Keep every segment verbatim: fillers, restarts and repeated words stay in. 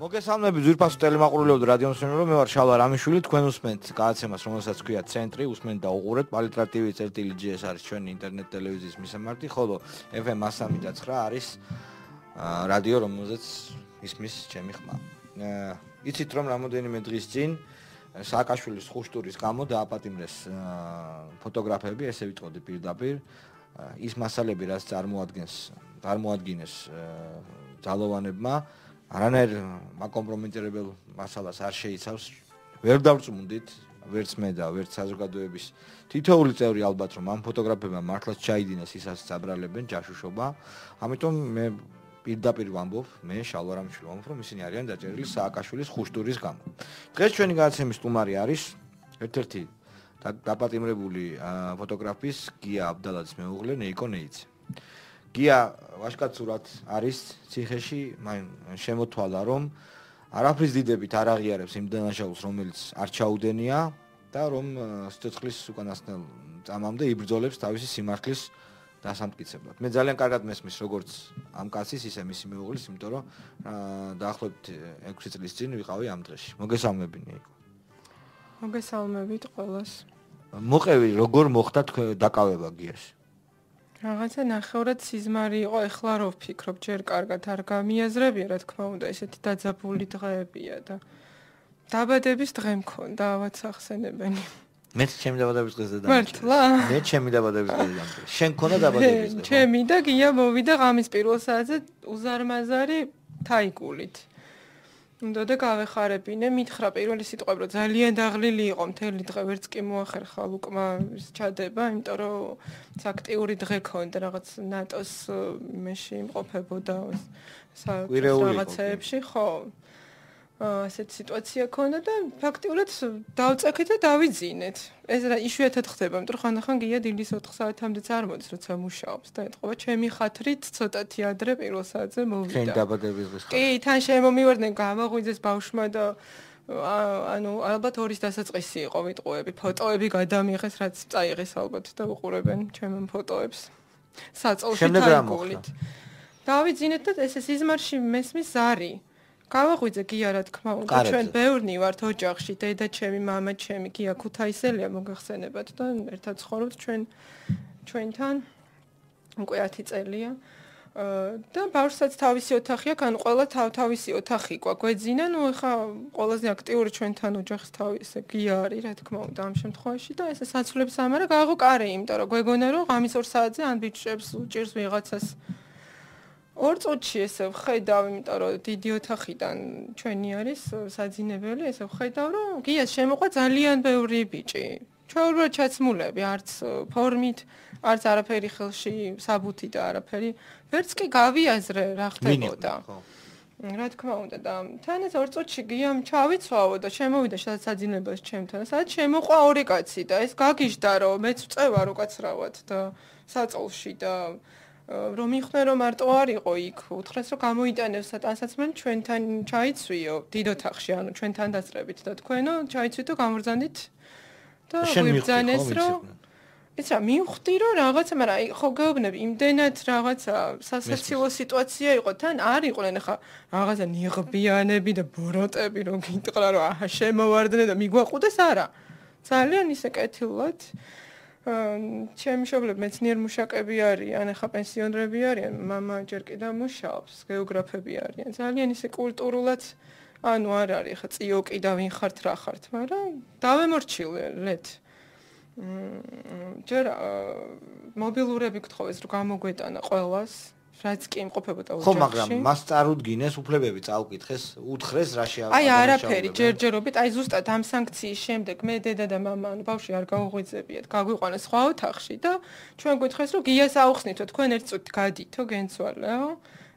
მოგესალმებით ძვირფასო ტელემაყურებელო რადიო მსმენელო, მე ვარ შალვა რამიშვილი, თქვენ უსმენთ გადაცემას, რომელსაც ქვია ცენტრი, უსმენთ და უყურებთ პალიტრა ტივი წერტილი ჯი ეს არის ჩვენი ინტერნეტ ტელევიზიის მისამართი, ხოლო ეფ ემ one oh three point nine არის რადიო, რომელზეც ისმის ჩემი ხმა. იცით რომ რამოდენიმე დღის წინ სააკაშვილის ხუშტურის გამო დააპატიმრეს ფოტოგრაფები, ესე ვიტყოდი პირდაპირ, ის მასალები, რაც წარმოადგენს, წარმოადგენს ძალოვანებმა არანაირ მაკომპრომიტირებელ მასალას არ შეიცავს. ვერ დავწმუნდით, ვერც მე და ვერც საზოგადოების თითოეული წევრი ალბათ რომ ამ ფოტოგრაფებმა მართლაც ჩაიდინეს ისაც საბრალებენ ჯაშუშობა. ამიტომ მე პირდაპირ ვამბობ, მე შალვა რამიშვილი ვამბობ, რომ ისინი არიან დაჭერილი სააკაშვილის ხუშტურის გამო. დღეს ჩვენი გადაცემის სტუმარი არის ერთ-ერთი დაპატიმრებული ფოტოგრაფის გია აბდალაძის მეუღლე ნეიკო ნეიცი. გია ვაშკაცურად არის ციხეში, მან შემოთვალა რომ არაფრის დიდებით არ აღიარებს იმ დანაშაულს, რომელიც არ ჩაუდენია და რომ სიცოცხლის უკანასკნელ წამამდე იბრძოლებს თავისი სიმართლის დასამტკიცებლად. მე ძალიან კარგად მესმის როგორც ამ კაცის, ისე მისი მეუღლის, იმიტომ რომ დაახლოებით ექვსი წლის წინ ვიყავი ამ დღეში. მოგესალმები ნეიკო. მოგესალმებით ყველას. მოყევი როგორ მოხდა დაკავება გიაში? რაღაცა ნახევრად სიზმარი იყო, ეხლა რო ვფიქრობ, ჯერ კარგად არ გამიაზრებია, რა თქმა უნდა, ესეთი დაძაბული დღეებია და დაბადების დღე მქონდა, ავაც ახსენებენი. მე ჩემი დაბადების დღეზე და მართლა? მე ჩემი დაბადების დღეზე და შენ ქონდა დაბადების დღე? ჩემი და გია მოვიდა ღამის პირველ საათზე უზარმაზარი თაიგულით. უნდა და გავეხარებინე, მითხრა პირველი სიტყვები, რომ ძალიან დაღლილი იყო, მთელი დღე ვერც კი მოახერხა ლუკმა ჩადება, იმიტომ რომ აქტიური დღე ქონდა, რაღაც ნატოს იმეში იმყოფებოდა რაღაცეებში, ხო. ასეთ სიტუაცია ქონდა და ფაქტიურად დავწექეთ და დავიძინეთ. ეს იშვიათად ხდება, იმიტომ რომ ხანდახან გია დილის ოთხ საათამდეც არ მოდის, როცა მუშაობს და ეთყობა ჩემი ხათრით ცოტათი ადრე პირველ საათზე მოვიდა. შენ დაბადების დღეს. კი, თან შემომივარდნენ, გამაღვიძეს ბავშვმა და ანუ ალბათ ორის დასაწყისი იყო ვიტყუები, ფოტოები გადამიღეს, რაც წაიღეს ალბათ და უყურებენ ჩემ ფოტოებს. საწოლში თაიგულით. დავიძინეთ და ესე სიზმარში მესმის ზარი. გავაღვიძე გია რა თქმა უნდა, ჩვენ ბევრნი ვართ ოჯახში, დედა ჩემი, მამა ჩემი, გია ქუთაისელია მოგახსენებათ და ერთად ცხოვრობთ ჩვენ ჩვენთან უკვე ათი წელია. და ბავშვსაც თავისი ოთახი აქვს, ანუ ყველა თავ-თავისი ოთახი ყვა გვეძინა, ნუ ეხა ყველაზე აქტიური ჩვენთან ოჯახის თავისი გია არის, რა თქმა უნდა, ამ შემთხვევაში და ესე საცვლებს ამარა გააღო კარი, იმიტომ რომ გვეგონა რომ ღამის ორ საათზე ან ბიჭებს უჭირს ვიღაცას ორ წუთში ესე ვხედავ, იმიტომ რომ დიდი ოთახიდან ჩვენი არის საძინებელი, ესე ვხედავ, რომ გიას შემოყვა ძალიან ბევრი ბიჭი. ჩვეულებრივად ჩაცმულები, არც ფორმით, არც არაფერი ხელში, საბუთი და არაფერი. ვერც კი გავიაზრე რა ხდებოდა. რა თქმა უნდა და თან ეს ორ წუთში გიამ ჩავიცვავო და შემოვიდა საძინებელს ჩემთან. სადაც შემოყვა ორი კაცი და ეს გაგიჟდა რომ მეც ვწევა რო კაცრავად და საწოლში და რომ მიხნე რომ მარტო არ იყო იქ, უთხრეს რომ გამოიტანებს სატანსაცმელი ჩვენთან ჩაიცვიო დიდ ოთახში, ანუ ჩვენთან დასწრებით და თქვენო ჩაიცვით და გამბრძანდით და ვიბრძანეს რომ ეს რა მივხვდი რომ რაღაცა, მაგრამ ხო გეუბნები, იმდენად რაღაცა სასაცილო სიტუაცია იყო, თან არ იყვნენ ხა რაღაცა ნიღბიანები და ბოროტები რომ გიტყრა რომ აჰა შემოვარდნენ და მიგვაყუდეს არა. ძალიან ისე კეთილად ჩემი მშობლები მეცნიერ მუშაკები არიან, ახლა პენსიონერები არიან, მამა ჯერ კიდევ მუშაობს, გეოგრაფები არიან. ძალიან ისე კულტურულად, ანუ არ არის ახლა წიოკი და ვინ ხართ რა ხართ, მაგრამ დავემორჩილეთ. ჯერ მობილურები გთხოვეს რომ გამოგვეტანა ყველას, რაც კი იმყოფებოდა ოჯახში. ხო, მაგრამ მას წარუდგინეს უფლებები წაუკითხეს, უთხრეს რა შეაქვს. აი არაფერი ჯერჯერობით, აი ზუსტად ამ სანქციის შემდეგ მე დედა და მამა, ანუ ბავშვი არ გაუღვიძებიათ, გაგვიყვანეს სხვა ოთახში და ჩვენ გვითხეს რომ გიას აუხსნითო, თქვენ ერთ წუთი გადითო, გენცვალეო.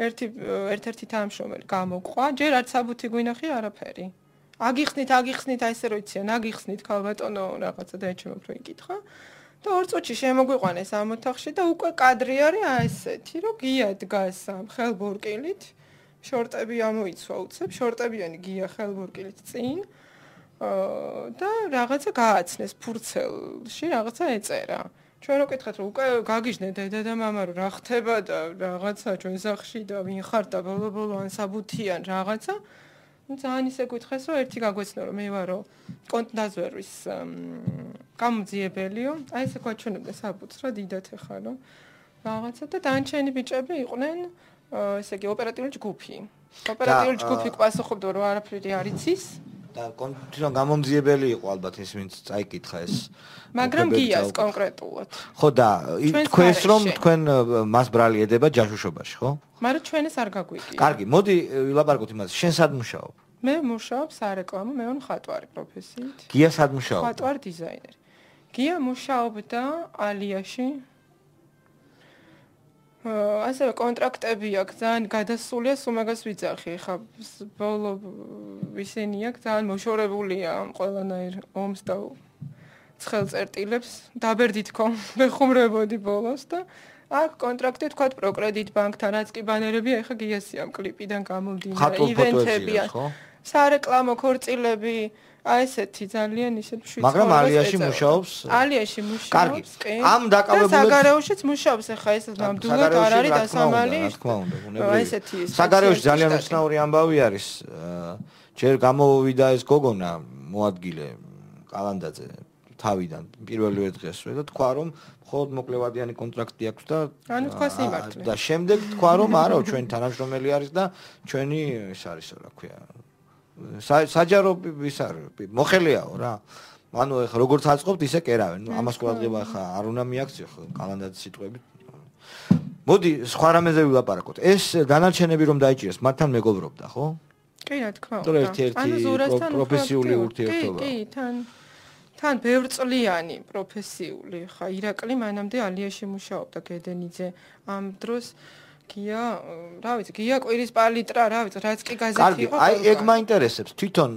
ერთი ერთ-ერთი თანამშრომელი გამოყვა, ჯერ არც საბუთი გვინახი არაფერი. აგიხსნით, აგიხსნით, აი ესე რო იციან, აგიხსნით ქალბატონო რაღაცა და ეჩემ უფრო იკითხა. და ორ წუთში შემოგვიყვანეს ამ ოთახში და უკვე კადრი არის აი ესეთი, რომ გია დგას ამ ხელბორკილით, შორტები ამოიცვა უცებ, შორტებიანი გია ხელბორკილით წინ და რაღაცა გააცნეს ფურცელში, რაღაცა ეწერა. ჩვენ რო კითხეთ რომ უკვე გაგიჟნე დედა და მამა რომ რა ხდება და რაღაცა ჩვენ სახში და ვინ ხარ და ბოლო-ბოლო ან საბუთიან რაღაცა ძალიან ისე გითხეს რომ ერთი გაგვეცნო რომ მე ვარო კონტდაზვერვის გამოძიებელიო აი ესე გვაჩვენებდა საბუთს რა დიდათ ეხარო რაღაცა და დანჩენი ბიჭები იყვნენ ესე იგი ოპერატიული ჯგუფი ოპერატიული ჯგუფი ყვასოხობდა რომ არაფერი არ იცის და კონკრეტულად გამომძიებელი იყო ალბათ ეს ვინც წაიკითხა ეს მაგრამ გიას კონკრეტულად ხო და თქვენს რომ თქვენ მას ბრალი ედება ჯაშუშობაში ხო მაგრამ ჩვენ ეს არ გაგვიგია კარგი მოდი ვილაპარაკოთ იმაზე შენ სად მუშაობ მე მუშაობ სარეკლამო მე ვარ მხატვარი პროფესიით გია სად მუშაობ მხატვარ დიზაინერი გია მუშაობდა ალიაში ასევე კონტრაქტები აქვს ძალიან გადასულია სუმაგას ვიძახი ხა ბოლო ისინი აქვს ძალიან მოშორებულია ყველანაირ ომს და ცხელწერტილებს დაბერდით ხომ მეხუმრებოდი ბოლოს და აქ კონტრაქტი თქვა პროკრედიტ ბანკთან რაც კი ბანერებია ეხა გიასია კლიპიდან გამომდინარე ივენთებია სარეკლამო ქორწილები აი ესეთი ძალიან ისეთ შვიცორი მაგრამ ალიაში მუშაობს ალიაში მუშაობს კი ამ დაკავებულებს საგარეოშიც მუშაობს ახლა ეს ნამდვილად არ არის დასამალი აი ესეთი საგარეოში ძალიან უცნაური ამბავი არის ჯერ გამოვიდა ეს გოგონა მოადგილე კალანდაძე თავიდან პირველივე დღესვე და თქვა რომ მხოლოდ მოკლევადიანი კონტრაქტი აქვს და ანუ თქვას იმართლე და შემდეგ თქვა რომ არა ჩვენი თანამშრომელი არის და ჩვენი ეს არის რა ქვია საჯარო ის არის მოხელიაო რა ანუ ეხა როგორც აწყობთ ისე კერავენ ნუ ამას ყურადღება ხა არ უნდა მიაქციო ხო კალანდაძის სიტყვებით მოდი სხვა რამეზე ვილაპარაკოთ ეს დანარჩენები რომ დაიჭირეს მათთან მეგობრობდა ხო კი რა თქმა უნდა ერთ-ერთი პროფესიული ურთიერთობა კი თან თან ბევრწლიანი პროფესიული ხა ირაკლი მანამდე ალიაში მუშაობდა გედენიძე ამ დროს გია რა ვიცი გია კვირის პალიტრა რა ვიცი რაც კი გაზეთი იყო აი ეგ მაინტერესებს თვითონ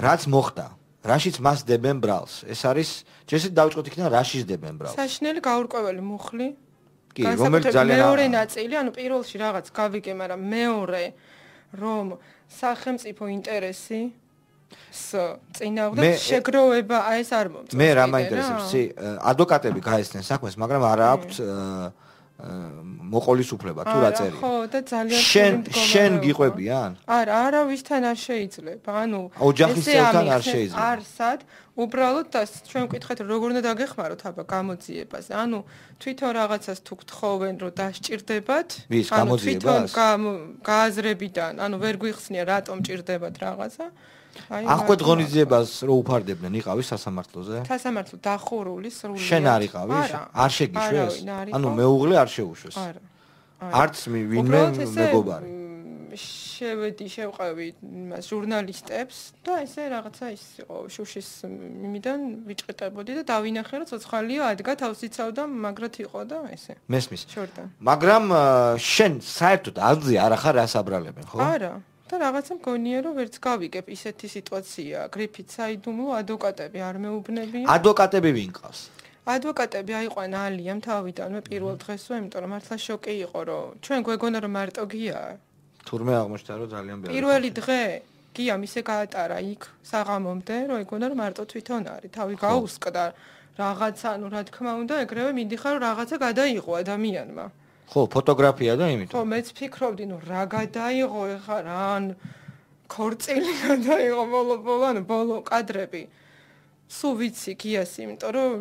რაც მოხდა რაშიც მას დებენ ბრალს ეს არის ჯერ დავიწყოთ იქიდან რაშიც დებენ ბრალს საშინელი გაურკვეველი მუხლი კი რომელიც ძალიან მეორე ნაწილი ანუ პირველში რაღაც გავიგე მაგრამ მეორე რომ სახელმწიფო ინტერესი ს წინააღმდეგ შეგროვება აი ეს არ მომწონს მე რა მაინტერესებს ადვოკატები გაესწნენ საქმეს მაგრამ არა აქვთ მოყოლის უფლება თუ რა წერია. ხო, და ძალიან შენ შენ გიყვებიან? არა, არავისთან არ შეიძლება. ანუ ოჯახის წევრთან არ შეიძლება. არსად, უბრალოდ და ჩვენ ვკითხეთ როგორ უნდა დაგეხმაროთ აბა გამოძიებას. ანუ თვითონ რაღაცას თუ გთხოვენ რომ დასჭირდებათ, ანუ თვითონ გააზრებიდან, ანუ ვერ გვიხსნია რატომ ჭირდებათ რაღაცა. ახვედ ღონისძიებას რო უფარდებდნენ, იყავის სასამართლოზე? სასამართლო დახურული სრულად. შენ არ იყავის? არ შეგიშვეს? ანუ მეუღლე არ შეუშვეს. არა. არც ვინმე მეგობარი. შევედი, შევყავი იმას ჟურნალისტებს და ესე რაღაცა ის იყო შუშის იმიდან ვიჭყეტებოდი და დავინახე რომ ცოცხალია ადგა თავს იცავდა მაგრად იყო და ესე. მესმის. შორდა. მაგრამ შენ საერთოდ აზრი არ ახარ რას აბრალებენ, ხო? არა. და რაღაცა მგონია რომ ვერც გავიგებ ისეთი სიტუაცია გრიფით საიდუმლო ადვოკატები არ მეუბნებიან ადვოკატები ვინ ყავს ადვოკატები აიყვან ალიამ თავიდანვე პირველ დღესვე იმიტომ რომ მართლა შოკი იყო რომ ჩვენ გვეგონა რომ მარტო გია თურმე აღმოჩნდა რომ ძალიან ბევრი პირველი დღე გიამ ისე გაატარა იქ საღამომდე რომ ეგონა რომ მარტო თვითონ არის თავი გაუსკდა რაღაცა ანუ რა თქმა უნდა ეგრევე მინდიხარ რომ რაღაცა გადაიღო ადამიანმა ხო, ფოტოგრაფია და იმით. ხო, მეც ფიქრობდი, ნუ რა გადაიღო ეხა რა ან ქორწილი გადაიღო ბოლო-ბოლო, ანუ ბოლო კადრები. სულ ვიცი გიას, იმიტომ რომ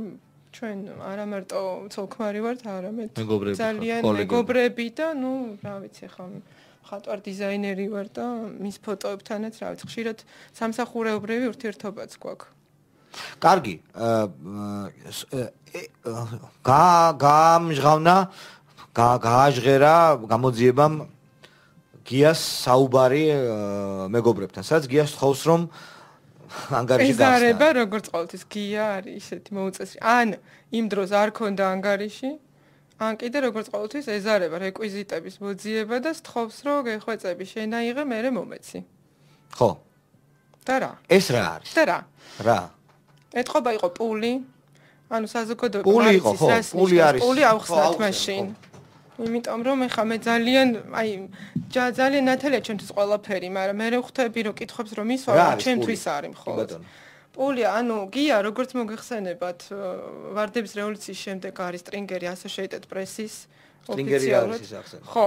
ჩვენ არა მარტო ცოლქმარი ვართ, არამედ ძალიან მეგობრები და ნუ რა ვიცი ხა მხატვარ დიზაინერი ვარ და მის ფოტოებთანაც რა ვიცი ხშირად სამსახურეობრივი ურთიერთობაც გვაქვს. კარგი. გა გამჟღავნა გააჟღერა გამოძიებამ გიას საუბარი მეგობრებთან. სადაც გიას თხოვს რომ ანგარიში გახსნა. ეზარება როგორც ყოველთვის გია არის ისეთი მოუწესი. ან იმ დროს არ ქონდა ანგარიში, ან კიდე როგორც ყოველთვის ეზარება რეკვიზიტების მოძიება და თხოვს რომ გეხვეწები შენაიღე მერე მომეცი. ხო. და რა? ეს რა არის? და რა? რა? ეთყობა იყო პული. ანუ საზოგადოება პული იყო, ხო, პული არის. პული ავხსნათ მაშინ. იმიტომ რომ ეხა მე ძალიან აი ძალიან ნათელია ჩემთვის ყველაფერი, მაგრამ მე ვხვდები რომ კითხობს რომ ის ვარ ჩემთვის არის მხოლოდ. პულია, ანუ გია, როგორც მოგეხსენებათ, ვარდების რევოლუციის შემდეგ არის სტრინგერი Associated Press-ის სტრინგერი არის ის ახსენე. ხო,